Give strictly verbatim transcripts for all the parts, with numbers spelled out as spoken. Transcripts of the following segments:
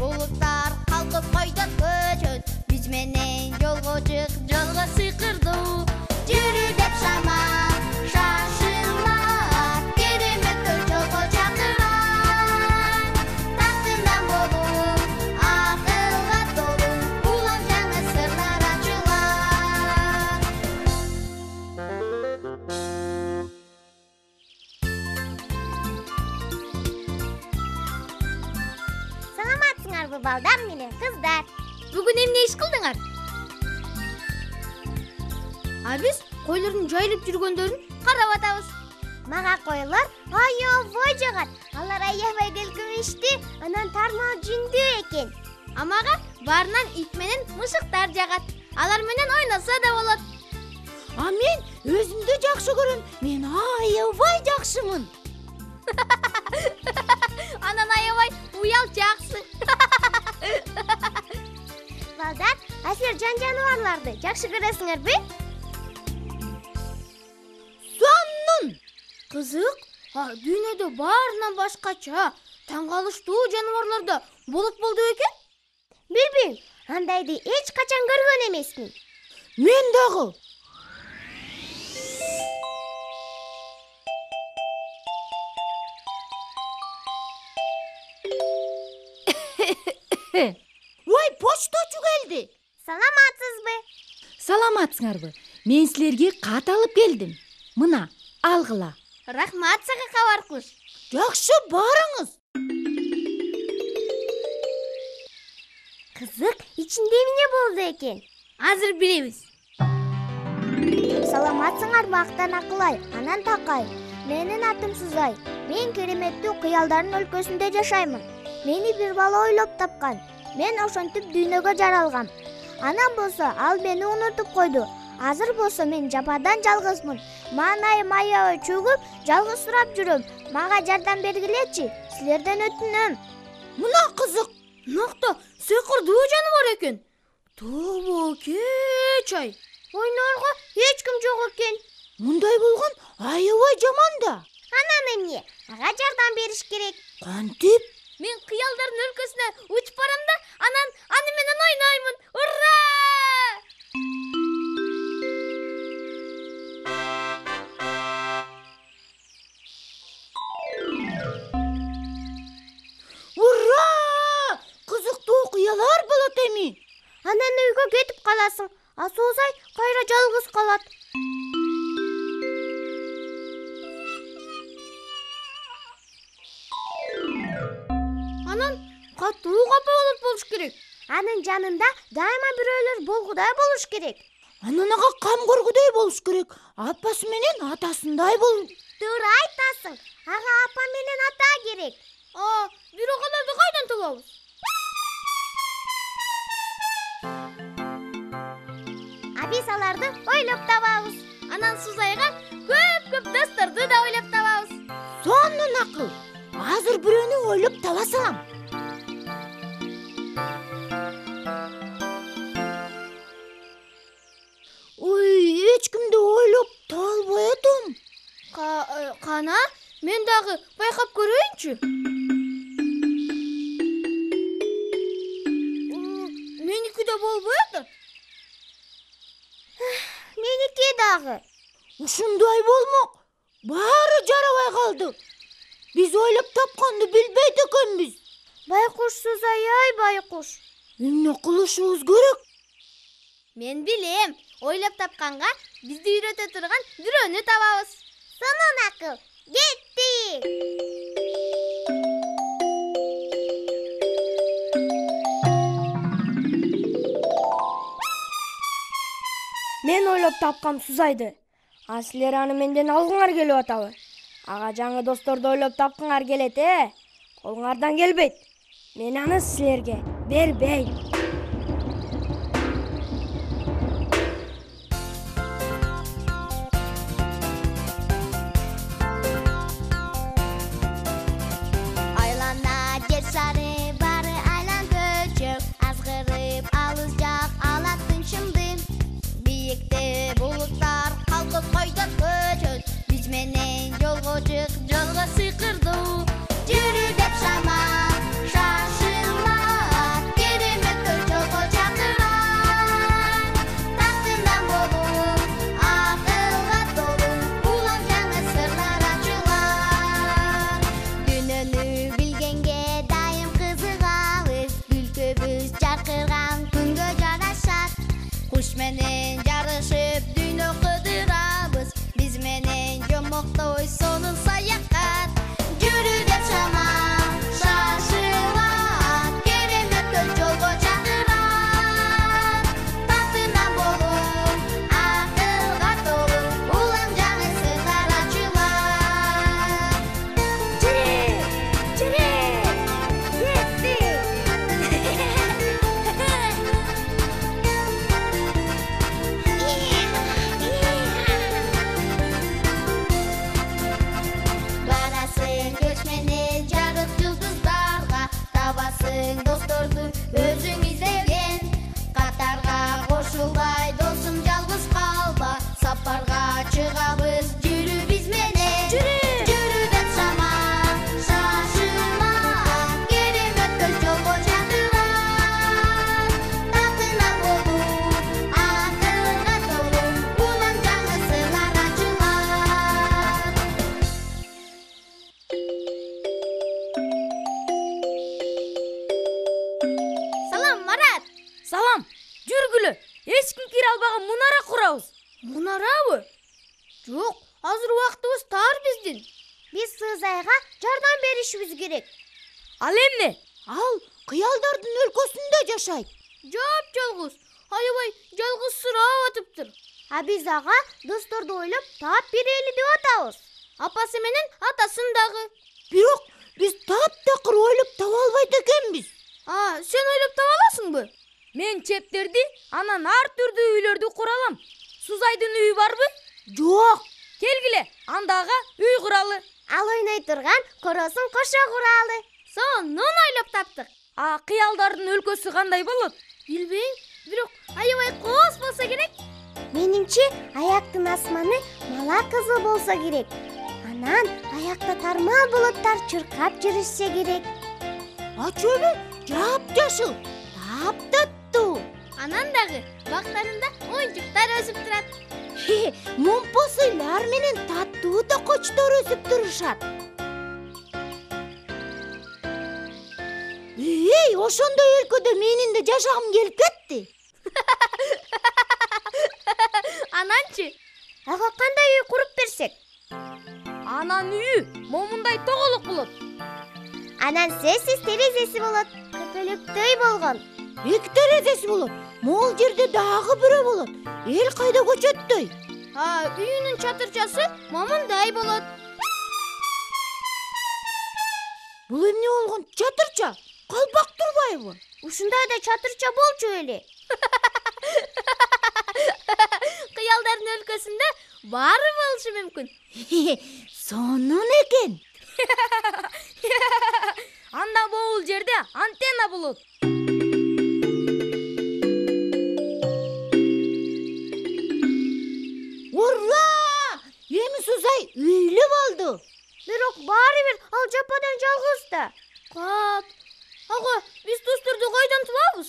булуттар калкып койдон көчөт. Биз менен жолго чык, жолго сыйкырдуу. Жүрү деп шамал шашылат, кереметтер жолго чакырат. Тактынан болуп, акылга толуу, улам жаңы сырлар ачылат. Саламатсыңарбы балдар менен кыздар? Бүгүн эмне иш кылдыңар? А биз койлордун жайылып жүргөндөрүн карап атабыз. Мага койлор аябай жагат. Алар аябай келкимиштүү, анан тармал жүндүү экен. А мага баарынан ит менен мышыктар жагат. Алар менен ойносо да болот. А мен өзүмдү жакшы көрөм. Мен аябай жакшымын. Анан аябай уялчаксың. Балдар, а силер жан жаныбарларды жакшы көрөсүңөрбү? Сонун. Кызык. А дүйнөдө баарынан башкача, таң калыштуу жаныбарлар да болуп болду экен? Билбейм, андайды эч качан көргөн эмесмин. Мен дагы. Ой, почточу келди. Саламатсызбы? Саламатсыңарбы? Мен силерге кат алып келдим. Мына, алгыла. Рахмат сага кабар куш. Жакшы, барыңыз. Кызык, ичинде эмне болду экен? Азыр билебиз. Саламатсыңарбы Актан Акылай, анан Такай. Менин атым Сузай. Мен кереметтүү кыялдардын өлкөсүндө жашаймын. Мени бир бала ойлоп тапкан. Мен ошентип дүйнөгө жаралгам. Анан болсо ал мени унутуп койду. Азыр болсо мен жападан жалгызмын. Маанайым аябай чөгүп, жалгызсырап жүрөм. Мага жардам бергилечи, силерден өтүнөм. Мына кызык. Нокто сыйкырдуу жаныбар экен. Тобокеч ай. Ойнорго эч ким жок экен. Мындай болгон аябай жаман да. Анан эмне? Ага жардам бериш керек. Кантип? Мен кыялдардын өлкөсүнө учуп барам да, анан аны менен ойноймун. Ура! Ура! Кызыктуу кыялар болот эми. Анан үйгө кетип каласың, а Сузай кайра жалгыз калат. Анан катуу капа болуп болуш керек. Анын жанында дайыма бирөөлөр болгудай болуш керек. Анан ага кам көргүдөй болуш керек. Апасы менен атасындай бол. Туура айтасың. Ага апа менен ата керек. А, бирок аларды кайдан табабыз? А биз аларды ойлоп табабыз. Анан Сузайга көп-көп досторду да ойлоп табабыз. Сонун акыл. Азыр бирөөнү ойлоп таба салам. Ой, эч кимди ойлоп таба албай атам. Кана, мен дагы байкап көрөйүнчү. Меники да болбой атат. Меники дагы. Ушундай болмок. Баары жарабай калды. Биз ойлоп тапканды билбейт экенбиз. Байкуш Сузай, ай байкуш. Эмне кылышыбыз керек? Мен билем. Ойлоп тапканга бизди үйрөтө турган бирөөнү табабыз. Сонун акыл. Кеттик. Мен ойлоп тапкам Сузайды. А силер аны менден алгыңар келип атабы? Ага жаңы досторду ойлоп тапкыңар келет, э? Колуңардан келбейт. Мен аны силерге бербейм. Айлана жер шары бары айлан көчөк, азгырып алыс жак алат тынчымды. Бийикте булуттар калкып койдон көчөт. Биз менен жолго чык, жолго сыйкырдуу. Жүрү деп шамал шашылат. салам, жүргүлө. Эч ким кире албаган мунара курабыз. Мунарабы? Жок, азыр убактыбыз тар биздин. Биз Сызайга жардам беришибиз керек. Ал эмне? Ал кыялдардын өлкөсүндө жашайт. Жап-жалгыз, аябай жалгызсырап атыптыр. А биз ага досторду ойлоп таап берели деп атабыз. Апасы менен атасын дагы. Бирок биз таптакыр ойлоп таба албайт экенбиз. А, сен ойлоп таба аласыңбы? Мен чептерди, анан ар түрдүү үйлөрдү кура алам. Сузайдын үйү барбы? Жок. Келгиле, андага үй куралы. Ал ойной турган коросун кошо куралы. Сонун ойлоп таптык. А кыялдардын өлкөсү кандай болот? Билбейм, бирок аябай кооз болсо керек. Менимче аяктын асманы мала кызыл болсо керек. Анан аякта тармал булуттар чыркап жүрүшсө керек. Ачөбү жап-жашыл, таптаттуу. Анан дагы бактарында оюнчуктар өсүп турат. Момпосуйлар менен таттуу токочтор өсүп турушат. Эй, ошондой өлкөдө менин да жашагым келип кетти. Ананчы? Ага кандай үй куруп берсек? Анан үйү момундай тоголук болот. Анан сесиз терезеси болот. Көпөлөктөй болгон. Эки терезеси болот. Могул жерде дагы бирөө болот. Эл кайда көчөттөй. А, үйүнүн чатырчасы момундай болот. Бул эмне болгон? Чатырча? Калпак турбайбы? Ушундай да чатырча болчу эле. Кыялдардын өлкөсүндө баары болушу мүмкүн. Сонун экен. Анда могул жерде антенна болот. Ура! Эми Сузай үйлүү болду. Бирок баары бир ал жападан жалгыз да. Кап. Ага, биз досторду кайдан табабыз?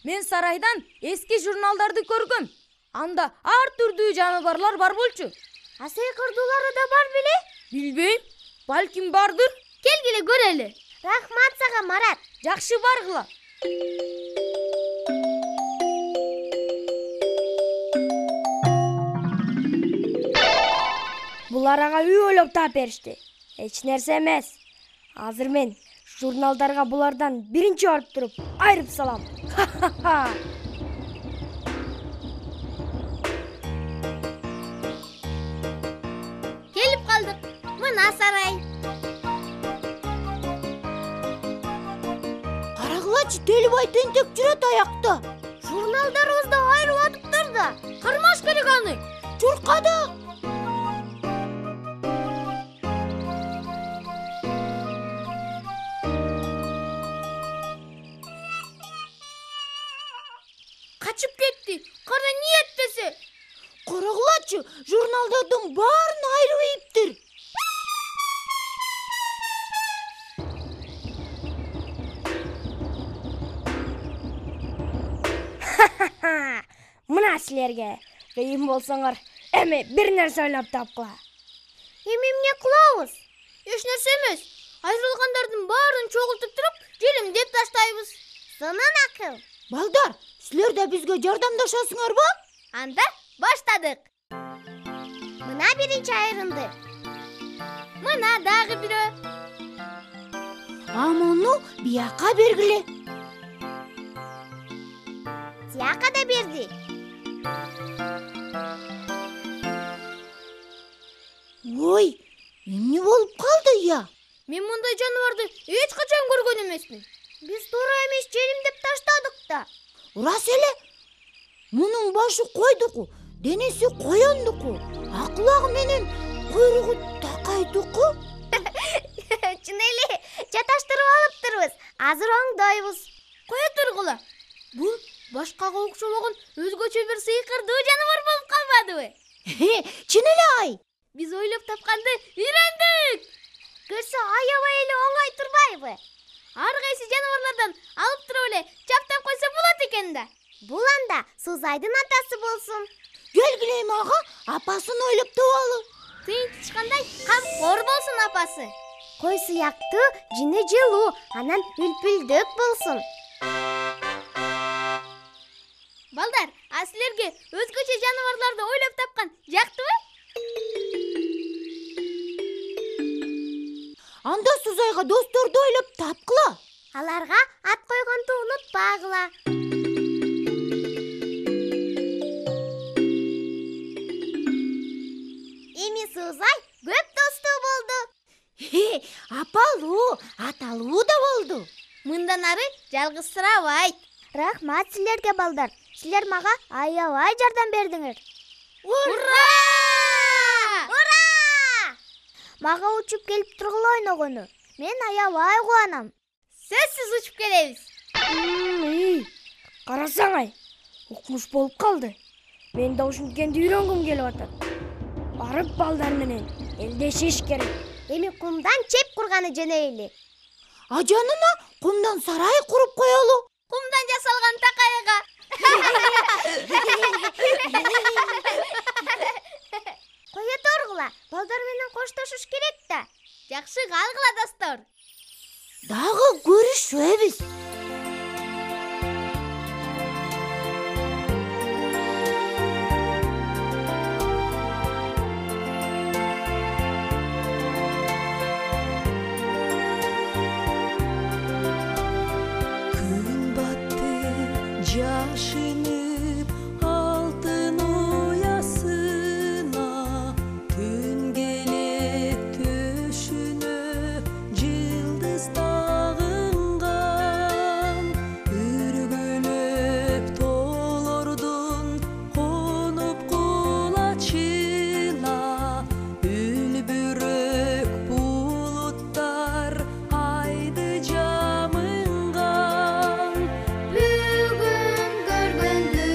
Мен сарайдан эски журналдарды көргөм. Анда ар түрдүү жаныбарлар бар болчу. А сыйкырдуулары да бар беле? Билбейм, балким бардыр. Келгиле көрөлү. Рахмат сага, Марат. Жакшы, баргыла. Булар ага үй ойлоп таап беришти. Эч нерсе эмес. Азыр мен журналдарга булардан биринчи барып туруп айрып салам. Келип калдык. Мына сарай. Карагылачы, Телибай тентек жүрөт аякта. Журналдарыбыз да айрылып атыптыр да. Кармаш керек аны. Чуркады. Качып кетти. Кара ниет десе. Карагылачы, журналдардын баарын айрып ийиптир. Мына силерге кыйын болсоңор, эми бир нерсе ойлоп тапкыла. Эми эмне кылабыз? Эч нерсе эмес. Айрылгандардын баарын чогултуп туруп, желимдеп таштайбыз. Сонун акыл. Балдар, силер да бизге жардамдашасыңарбы? Анда баштадык. Мына биринчи айрылды. Мына дагы бирөө. А муну бияка бергиле. Тияка да берди. Ой, эмне болуп калды я? Мен мындай жаныбарды эч качан көргөн эмесмин. Биз туура эмес желимдеп таштадык да. Урас эле. Мунун башы койдуку, денеси коёндуку, акулагы менен куйругу такайдуку. Чын эле, жаташтырып алыптырбыз. Азыр оңдойбуз. Кое тургула. Бул башкага окшобогон өзгөчө бир сыйкырдуу жаныбар болуп калбадыбы? Чын эле ай. Биз ойлоп тапканды үйрөндүк. Көрсө аябай эле оңой турбайбы? Ар кайсы жаныбарлардан алып туруп эле чаптап койсо болот экен да. Бул анда Сузайдын атасы болсун. Келгиле эми ага апасын ойлоп табалы. Тыйынтышкандай камкор болсун апасы. Кой сыяктуу, жини жылуу, анан үлпүлдөк болсун. Балдар, а силерге өзгөчө жаныбарларды ойлоп тапкан жактыбы? Анда Сузайга досторду ойлоп тапкыла. Аларга ат койгонду унутпагыла. Эми Сузай көп досту болду. Апалуу, аталуу да болду. Мындан ары жалгызсырабайт. Рахмат силерге балдар. Силер мага аябай жардам бердиңер. Ура! Ура! Мага учуп келип тургула ойногону мен аябай кубанам. Сөзсүз учуп келебиз. Үй, карасаң-ай, укмуш болуп калды. Мен да ушинткенди үйрөнгүм келип атат. Барып балдар менен элдешиш керек. Эми кумдан чеп курганы жөнөйлү. Ажанына кумдан сарай куруп коелу. Кумдан жасалган такайга. Кое торгула, балдар менен коштошуш керек да. Жакшы, калгыла достор. Дагы көрүшөбүз. Күн батты жашынып алтын уясына, түн келет төшүнө жылдыз тагынган, үргүлөп тоолордун конуп кулачына, үлбүрөк булуттар айды жамынган. Бүгүн көргөндү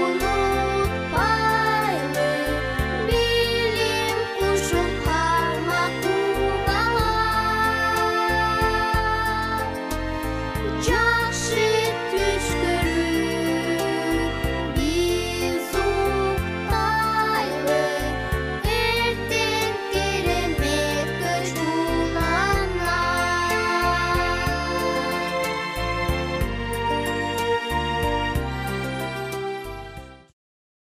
унутпайлы, билим кушуп кармак кубала.